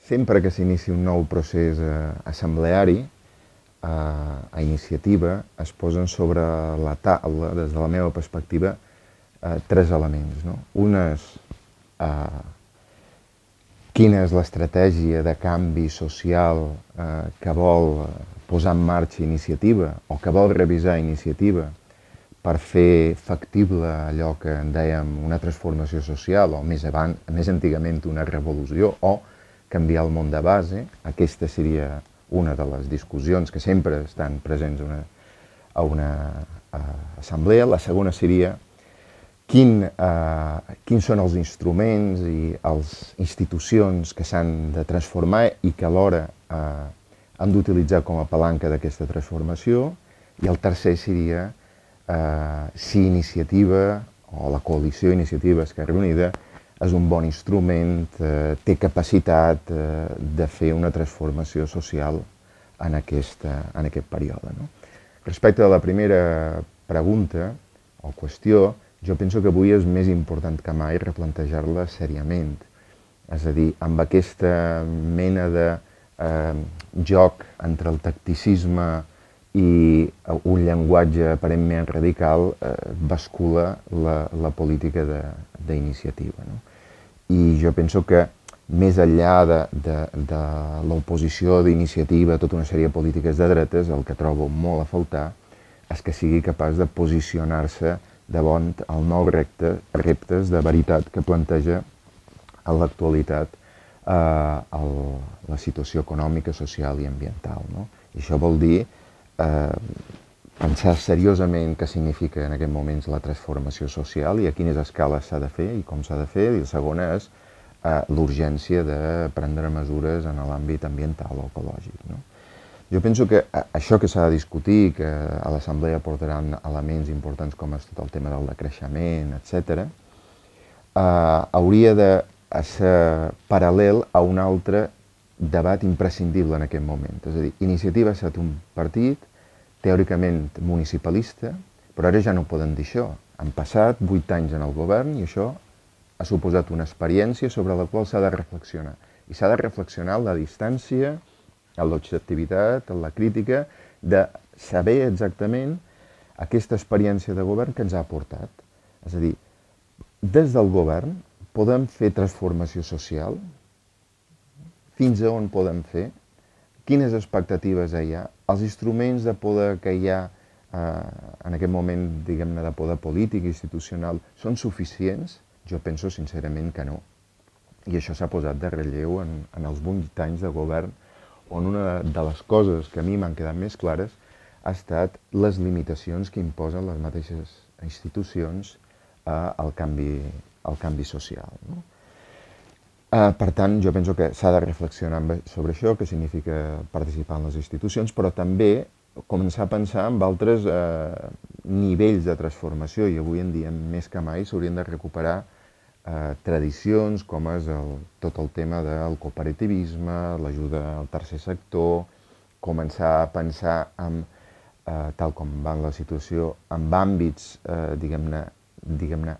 sempre que s'inici un nou procés assembleari, a iniciativa, es posen sobre la taula, des de la meva perspectiva, tres elements. No? Un és quina és l'estratègia de canvi social que vol posar en marxa iniciativa o que vol revisar iniciativa per fer factible allò que en dèiem una transformació social o més antigament una revolució o canviar el món de base. Aquesta seria una de les discussions que sempre estan presents a una assemblea. La segona seria quins són els instruments i les institucions que s'han de transformar i que alhora han d'utilitzar com a palanca d'aquesta transformació. I el tercer seria si Iniciativa o la coalició Iniciativa Esquerra Unida és un bon instrument, té capacitat de fer una transformació social en aquest període. No? Respecte a la primera pregunta o qüestió, jo penso que avui és més important que mai replantejar-la seriament. És a dir, amb aquesta mena de joc entre el tacticisme i un llenguatge aparentment radical bascula la política d'iniciativa. No? I jo penso que més enllà de l'oposició d'iniciativa a tota una sèrie de polítiques de dretes, el que trobo molt a faltar és que sigui capaç de posicionar-se davant els nous reptes de veritat que planteja en l'actualitat la situació econòmica, social i ambiental. No? I això vol dir pensar seriosament què significa en aquests moments la transformació social i a quines escales s'ha de fer i com s'ha de fer. I la segona és l'urgència de prendre mesures en l'àmbit ambiental o ecològic. No? Jo penso que això que s'ha de discutir, que a l'Assemblea portaran elements importants com és tot el tema del decreixement, etc., hauria de ser paral·lel a un altre debat imprescindible en aquest moment. És a dir, Iniciativa ha estat un partit teòricament municipalista, però ara ja no poden dir això. Han passat 8 anys en el govern i això ha suposat una experiència sobre la qual s'ha de reflexionar. I s'ha de reflexionar en la distància, en l'objectivitat, en la crítica, de saber exactament aquesta experiència de govern que ens ha aportat. És a dir, des del govern podem fer transformació social, fins a on podem fer, quines expectatives hi ha, els instruments de poder que hi ha en aquest moment, diguem-ne, de poder polític i institucional, són suficients? Jo penso sincerament que no. I això s'ha posat de relleu en els 8 anys de govern, on una de les coses que a mi m'han quedat més clares ha estat les limitacions que imposen les mateixes institucions al canvi social. No? Per tant, jo penso que s'ha de reflexionar sobre això, què significa participar en les institucions, però també començar a pensar en altres nivells de transformació i avui en dia, més que mai, s'haurien de recuperar tradicions com és tot el tema del cooperativisme, l'ajuda al tercer sector, començar a pensar, tal com va la situació, en àmbits, diguem-ne,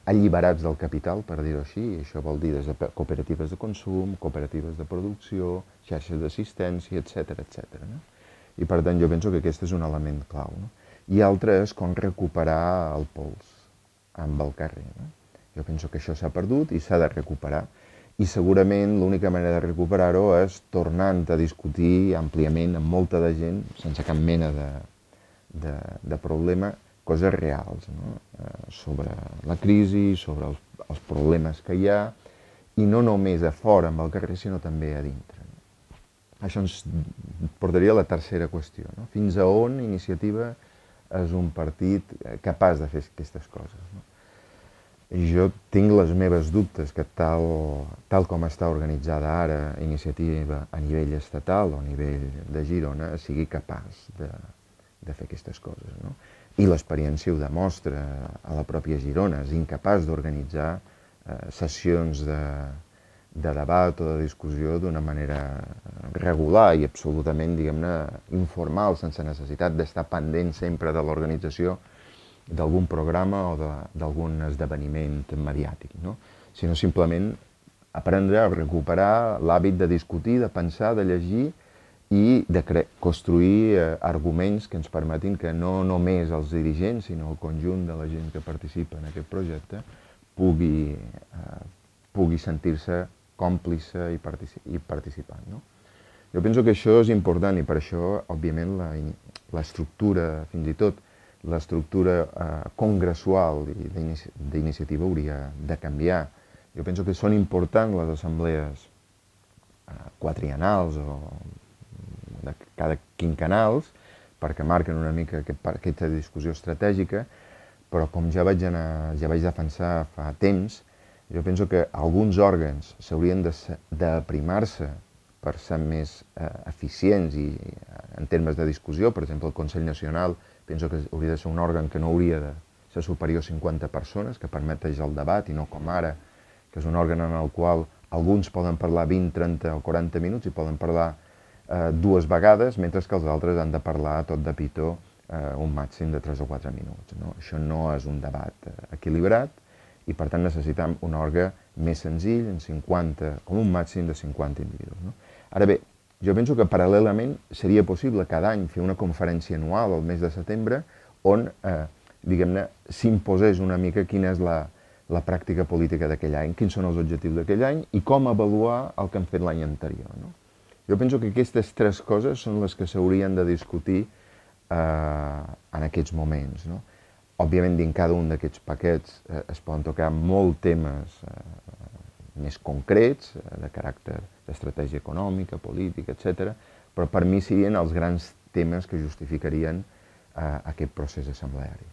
alliberats del capital, per dir-ho així, i això vol dir des de cooperatives de consum, cooperatives de producció, xarxes d'assistència, etc. No? I per tant jo penso que aquest és un element clau. No? I altre és com recuperar el pols amb el carrer. No? Jo penso que això s'ha perdut i s'ha de recuperar. I segurament l'única manera de recuperar-ho és tornant a discutir àmpliament amb molta de gent, sense cap mena de problema, coses reals, no? Sobre la crisi, sobre els problemes que hi ha, i no només a fora amb el carrer, sinó també a dintre. Això ens portaria a la tercera qüestió. No? Fins a on Iniciativa és un partit capaç de fer aquestes coses. No? Jo tinc les meves dubtes que tal com està organitzada ara Iniciativa a nivell estatal o a nivell de Girona sigui capaç de fer aquestes coses. No? I l'experiència ho demostra, a la pròpia Girona, és incapaç d'organitzar sessions de debat o de discussió d'una manera regular i absolutament, diguem-ne, informal, sense necessitat d'estar pendent sempre de l'organització d'algun programa o d'algun esdeveniment mediàtic, no? Sinó simplement aprendre a recuperar l'hàbit de discutir, de pensar, de llegir i de construir arguments que ens permetin que no només els dirigents, sinó el conjunt de la gent que participa en aquest projecte pugui sentir-se còmplice i participant. No? Jo penso que això és important i per això, òbviament, l'estructura, fins i tot l'estructura congressual d'iniciativa hauria de canviar. Jo penso que són importants les assemblees quadriennals o de cada quinquennals perquè marquen una mica aquesta discussió estratègica, però com ja vaig defensar fa temps, jo penso que alguns òrgans s'haurien d'aprimar-se per ser més eficients i en termes de discussió. Per exemple, el Consell Nacional penso que hauria de ser un òrgan que no hauria de ser superior a 50 persones, que permeteix el debat i no com ara, que és un òrgan en el qual alguns poden parlar 20, 30 o 40 minuts i poden parlar dues vegades, mentre que els altres han de parlar tot de pitó un màxim de 3 o 4 minuts. No? Això no és un debat equilibrat i per tant necessitem un òrgan més senzill, com un màxim de 50 individus. No? Ara bé, jo penso que paral·lelament seria possible cada any fer una conferència anual al mes de setembre on, diguem-ne, s'imposés una mica quina és la pràctica política d'aquell any, quins són els objectius d'aquell any i com avaluar el que han fet l'any anterior. No? Jo penso que aquestes tres coses són les que s'haurien de discutir en aquests moments. No? Òbviament, dins cada un d'aquests paquets es poden tocar molts temes més concrets, de caràcter d'estratègia econòmica, política, etc. Però per mi serien els grans temes que justificarien aquest procés assembleari.